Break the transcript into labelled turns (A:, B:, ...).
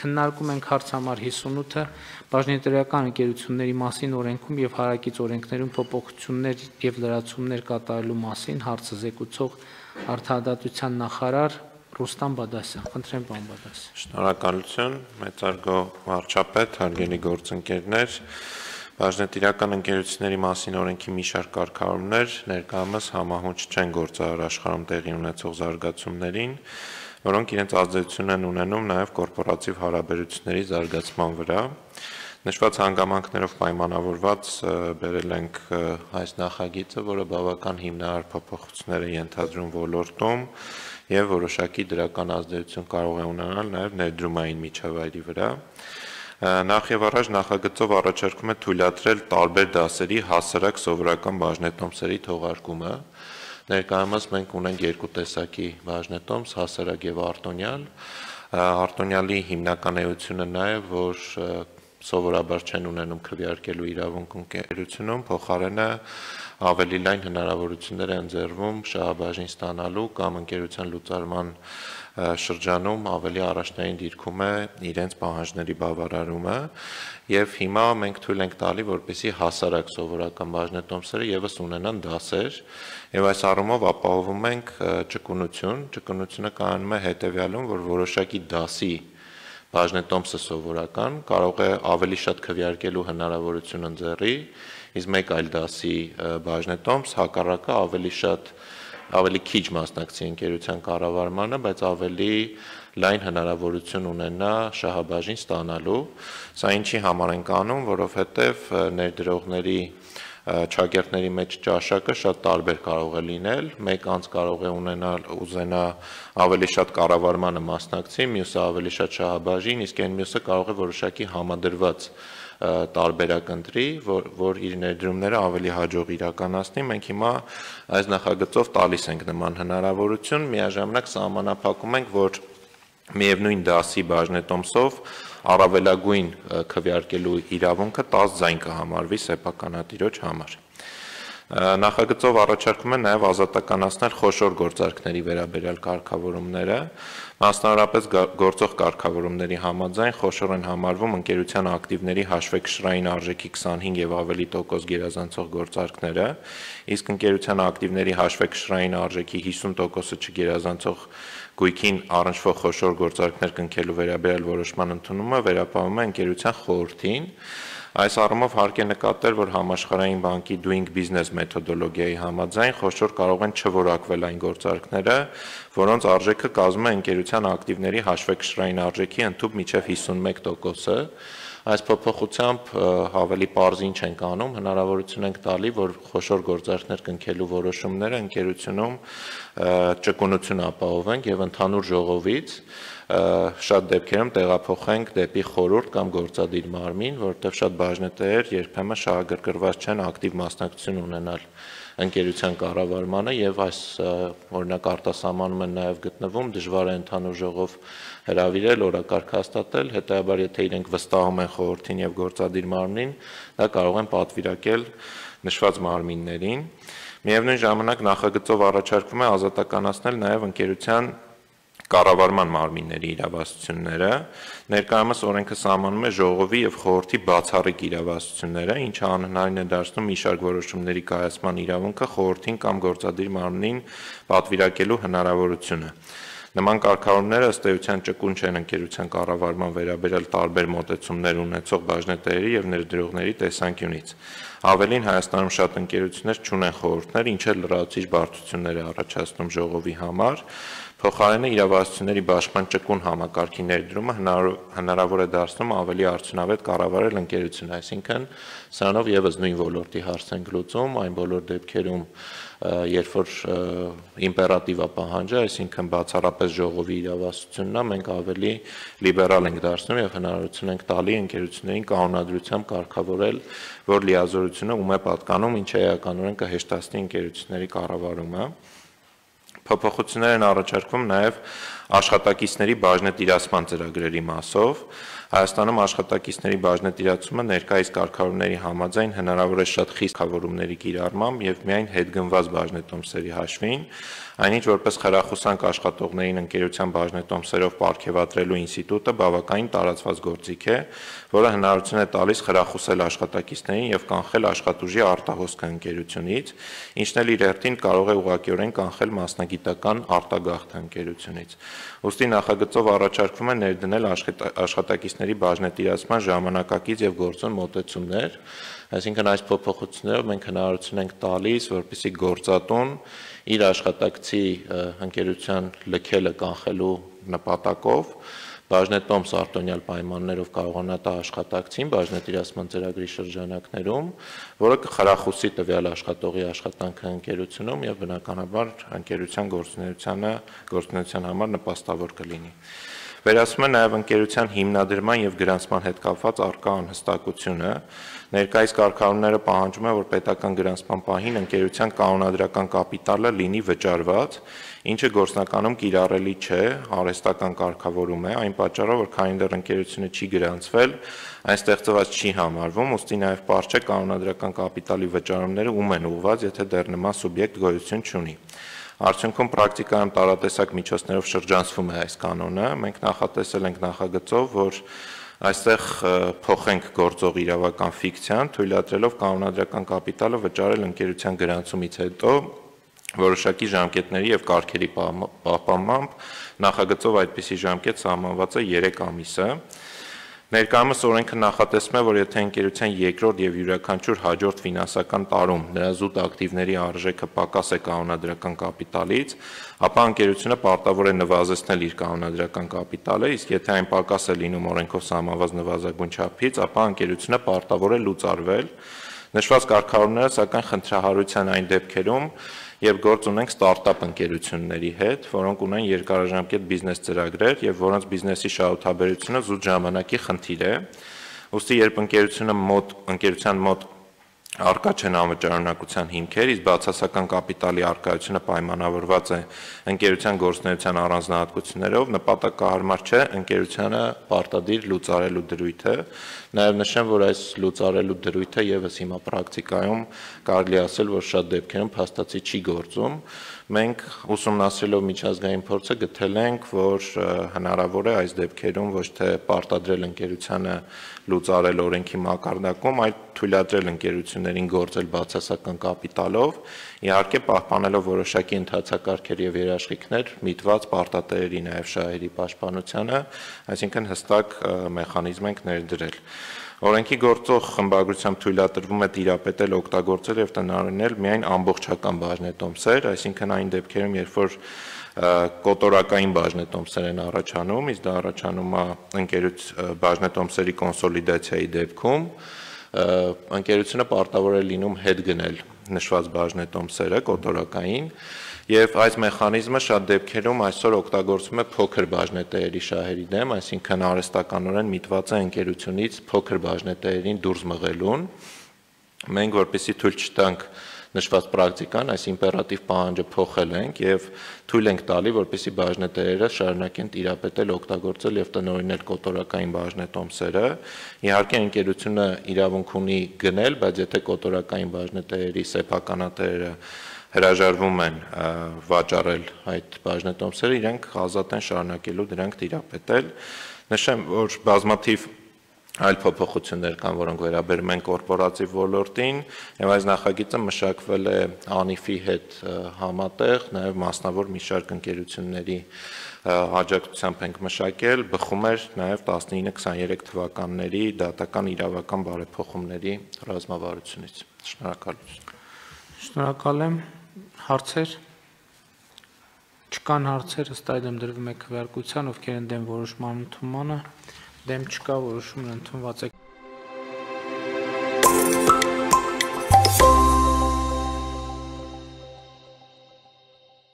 A: քննարկում ենք հարց համար 58-ը բաժնետերական ընկերությունների մասին օրենքում եւ հարակից օրենքներում փոփոխություններ եւ լրացումներ կատարելու մասին հարցը զեկուցող Արդարադատության նախարար Ռուստամ Բադասյան։ Խնդրեմ, պարոն Բադասյան։
B: Շնորհակալություն, մեծարգո վարչապետ, հարգելի գործընկերներ, բաժնետիրական ընկերությունների մասին օրենքի մի շարք կարգավորումներ ներկայումս համահունչ չեն գործարար աշխարհում տեղի ունեցող զարգացումներին, որոնք իրենց ազդեցություն են ունենում նաև կորպորատիվ հարաբերությունների զարգացման վրա։ Նշված հանգամանքներով պայմանավորված բերել ենք այս նախագիծը, որը բավական հիմնարար փոփոխություններ է ենթադրում ոլորտում եւ որոշակի դրական ազդեցություն կարող է ունենալ նաև ներդրումային միջավայրի վրա։ Նախ եւ առաջ նախագծով առաջարկում է թույլատրել տարբեր դասերի հասարակ սովորական բաժնետոմսերի թողարկումը։ Ներկայումս մենք ունենք երկու տեսակի բաժնետոմս, հասարակ եւ արտոնյալ։ Արտոնյալի հիմնական էությունը նա է, որ սովորաբար չեն ունենում քվեարկելու իրավունք ընկերությունում, փոխարենը ավելի լայն հնարավորություններ են ընձեռվում շահաբաժին ստանալու կամ ընկերության լուծարման շրջանում ավելի առաջնային դիրքում է իրենց պահանջների բավարարումը եւ հիմա մենք թույլ ենք տալի, որպեսզի հասարակ սովորական բաժնետոմսերը եւս ունենան դասեր եւ այս առումով ապահովում ենք ճկունությունը կայանում է հետեւյալում, որ որոշակի դասի բաժնետոմսը սովորական կարող է ավելի շատ քվեարկելու հնարավորություն ընձեռի, իսկ մեկ այլ դասի բաժնետոմս հակառակը ավելի քիչ մասնակցի ընկերության կառավարմանը, բայց ավելի լայն հնարավորություն ունենա շահաբաժին ստանալու։ Սա ինչի համար ենք անում, որովհետև ներդրողների ճակերտների մեջ ճաշակը շատ տարբեր կարող է լինել, մեկ անձ կարող է ուզենա ավելի շատ կառավարմանը մասնակցի, մյուսը ավելի շատ շահաբաժին, իսկ այն մյուսը կարող է որոշակի համադրված տարբերակ ընտրի, որ իր ներդրումները ավելի հաջող իրականացնի։ Մենք հիմա այս նախագծով տալիս ենք նման հնարավորություն, միաժամանակ սահմանափակում ենք, որ միևնույն դասի բաժնետոմսով առավելագույն քվեարկելու իրավունքը 10 ձայն կհամարվի սեփականատիրոջ համար։ Նախագծով առաջարկում է նաև ազատականացնել խոշոր գործարքների վերաբերյալ կարգավորումները, մասնավորապես գործող կարգավորումների համաձայն խոշոր են համարվում ընկերության ակտիվների հաշվեկշռային արժեքի 25 եւ ավելի տոկոս գերազանցող գործարքները, իսկ ընկերության ակտիվների հաշվեկշռային արժեքի 50%-ը չգերազանցող գույքին առնչվող խոշոր գործարքներ կնքելու վերաբերյալ որոշման ընդունումը վերապահում է ընկերության խորհրդին։ Այս առումով հարկ է նկատել, որ համաշխարհային բանկի Doing Business մեթոդոլոգիայի համաձայն խոշոր կարող են չորակվել այն գործարքները, որոնց արժեքը կազմում է ընկերության ակտիվների հաշվեկշռային արժեքի ընդհանուր մինչև 51%-ը։ Այս փոփոխությամբ ավելի պարզ ինչ ենք անում, հնարավորություն ենք տալի, որ խոշոր գործարքներ կնքելու որոշումները ընկերությունում ճկունություն ապահովենք եւ ընդհանուր ժողովից շատ դեպքերում տեղափոխենք դեպի խորհուրդ կամ գործադիր մարմին, որտեղ շատ բաժնետերեր երբեմն շահագրգռված չեն ակտիվ մասնակցություն ունենալ ընկերության կառավարմանը եւ այս օրինակ արտասահմանում են նաեւ գտնվում, դժվար է ընդհանուր ժողով հրավիրել, օրակարգ հաստատել, հետեւաբար եթե իրենք վստահում են խորհրդին եւ գործադիր մարմնին, դա կարող են պատվիրակել նշված մարմիններին։ Միևնույն ժամանակ նախագծով առաջարկվում է ազատականացնել նաեւ ընկերության կառավարման մարմինների իրավասությունները, ներկայումս օրենքը սահմանում է ժողովի եւ խորհրդի բացառիկ իրավասությունները, ինչը անհնարին է դարձնում մի շարք որոշումների կայացման իրավունքը խորհրդին կամ գործադիր մարմնին պատվիրակելու հնարավորությունը։ Նման կարգավորումները ըստ էության ճկուն չեն ընկերության կառավարման վերաբերյալ տարբեր մոտեցումներ ունեցող բաժնետերերի եւ ներդրողների տեսանկյունից։ Ավելին Հայաստանում շատ ընկերություններ չունեն խորհուրդներ, ինչը լրացուցիչ բարդություններ է առաջացնում ժողովի համար։ Փոխարենը իրավասությունների բաշխման ճկուն համակարգի ներդրումը հնարավոր է դարձնում ավելի արդյունավետ կառավարել ընկերությունը, այսինքն սրանով եւս նույն ոլորտի հարց ենք լուծում, այն բոլոր դեպքերում, երբ որ իմպերատիվ է պահանջը, այսինքն բացառապես ժողովի իրավասությունն է, մենք ավելի լիբերալ ենք դարձնում եւ հնարավորություն ենք տալի ընկերություններին կանոնադրությամբ կարգավորել, որ լիազորությունը ում է պատկանում, ինչը էականորեն կհեշտացնի ընկերությունների կառավարումը։ Փոփոխություններ են առաջարկվում նաև աշխատակիցների բաժնետիրացման ծրագրերի մասով։ Հայաստանում աշխատակիցների բաժնետիրացումը ներկայիս կարգավորումների համաձայն հնարավոր է շատ խիստ կարգավորումների կիրառմամբ եւ միայն հետգնված բաժնետոմսերի հաշվին, այնինչ որպես խրախուսանք աշխատողներին ընկերության բաժնետոմսերով պարգևատրելու ինստիտուտը բավականին տարածված գործիք է, որը հնարավորություն է տալիս խրախուսել աշխատակիցներին եւ կանխել աշխատուժի արտահոսքը ընկերությունից, ինչն էլ իր հերթին կարող է ուղղակիորեն կանխել մասնագիտական արտագաղթը ընկերությունից։ Ուստի նախագծով առաջարկվում է ներդնել աշխատակիցների բաժնետիրացման ժամանակակից եւ գործուն մոտեցումներ, այսինքն այս փոփոխություններով մենք հնարավորություն ենք տալիս, որպեսզի գործատուն իր աշխատակցի ընկերության լքելը կանխելու նպատակով բաժնետոմս արտոնյալ պայմաններով կարողանա տա աշխատակցին բաժնետիրացման ծրագրի շրջանակներում, որը կխրախուսի տվյալ աշխատողի աշխատանքը ընկերությունում եւ բնականաբար ընկերության գործունեության համար նպաստավոր կլինի։ Վերացում է նաև ընկերության հիմնադրման եւ գրանցման հետ կապված առկա անհստակությունը։ Ներկայիս կարգավորումները պահանջում են, որ պետական գրանցման պահին ընկերության կանոնադրական կապիտալը լինի վճարված, ինչը գործնականում կիրառելի չէ, արհեստական կարգավորում է, այն պատճառով, որ քանի դեռ ընկերությունը չի գրանցվել, այն ստեղծված չի համարվում, ուստի նաև պարզ չէ կանոնադրական կապիտալի վճարումները ում են ուղղված, եթե դեռ նման սուբյեկտ գոյություն չունի։ Արդյունքում պրակտիկայում տարատեսակ միջոցներով շրջանցվում է այս կանոնը, մենք նախատեսել ենք նախագծով, որ այստեղ փոխենք գործող իրավական ֆիկցիան, թույլատրելով կանոնադրական կապիտալը վճարել ընկերության գրանցումից հետո որոշակի ժամկետների եւ կարգերի պահպանմամբ, նախագծով այդպիսի ժամկետ սահմանված է 3 ամիսը։ Ներկայումս օրենքը նախատեսում է, որ եթե ընկերության երկրորդ եւ յուրաքանչյուր հաջորդ ֆինանսական տարում նրա զուտ ակտիվների արժեքը պակաս է կանոնադրական կապիտալից, ապա ընկերությունը պարտավոր է նվազեցնել իր կանոնադրական կապիտալը, իսկ եթե այն պակաս է լինում օրենքով սահմանված նվազագույն չափից, ապա ընկերությունը պարտավոր է լուծարվել։ Նշված կարգավորումները սակայն խնդրահարության այն դեպքերում, երբ գործ ունենք ստարտափ ընկերությունների հետ, որոնք ունեն երկարաժամկետ բիզնես ծրագրեր եւ որոնց բիզնեսի շահութաբերությունը զուտ ժամանակի խնդիր է, ուստի երբ ընկերության մոտ առկա չեն անվճարունակության հիմքեր, իսկ բացասական կապիտալի առկայությունը պայմանավորված է ընկերության գործունեության առանձնահատկություններով, նպատակահարմար չէ ընկերությանը պարտադիր լուծարելու դրույթը։ Նաև նշեմ, որ այս լուծարելու դրույթը եւս հիմա պրակտիկայում կարելի ասել, որ շատ դեպքերում փաստացի չի գործում։ Մենք ուսումնասիրելով միջազգային փորձը գտել ենք, որ հնարավոր է այս դեպքերում ոչ թե պարտադրել ընկերությանը լուծարել օրենքի մակարդակում, այլ թույլատրել ընկերություններին գործել բացասական կապիտալով, իհարկե պահպանելով որոշակի ընթացակարգեր եւ երաշխիքներ միտված պարտատերերի նաեւ շահերի պաշտպանությանը, այսինքն հստակ մեխանիզմ ենք ներդրել։ Օրենքի գործող խմբագրությամբ թույլատրվում է տիրապետել, օգտագործել եւ տնօրինել միայն ամբողջական բաժնետոմսեր, այսինքն այն դեպքերում, երբ որ կոտորակային բաժնետոմսեր են առաջանում, իսկ դա առաջանում է բաժնետոմսերի կոնսոլիդացիայի դեպքում, ընկերությունը պարտավոր է լինում հետ գնել նշված բաժնետոմսերը կոտորակային եւ այս մեխանիզմը շատ դեպքերում այսօր օգտագործվում է փոքր բաժնետերերի շահերի դեմ, այսինքն արհեստականորեն միտված է ընկերությունից փոքր բաժնետերերին դուրս մղելուն։ Մենք որպեսզի թույլ չտանք նշված պրակտիկան, այս իմպերատիվ պահանջը փոխել ենք եւ թույլ ենք տալի, որպեսզի բաժնետերերը շարունակեն տիրապետել, օգտագործել եւ տնօրինել կոտորակային բաժնետոմսերը։ Իհարկե ընկերությունը իրավունք ունի գնել, բայց եթե կոտորակային բաժնետերերի սեփականատերերը հրաժարվում են վաճառել այդ բաժնետոմսերը, իրենք ազատ են շարունակելու դրանք տիրապետել։ Նշեմ, որ բազմաթիվ այլ փոփոխություններ կան, որոնք վերաբերում են կորպորատիվ ոլորտին, եւ այս նախագիծը մշակվել է ԱՆԻՖ-ի հետ համատեղ, նաեւ մասնավոր մի շարք ընկերությունների աջակցությամբ ենք մշակել, բխում էր նաեւ 19-23 թվականների դատական իրավական բարեփոխումների ռազմավարությունից։ Շնորհակալություն։
A: Շնորհակալ եմ։ Հարցեր։ Չկան հարցեր, ըստ այդմ դրվում է քվեարկության, ովքեր են դեմ որոշման ընդունմանը, դեմ չկա, որոշումն ընդունված է։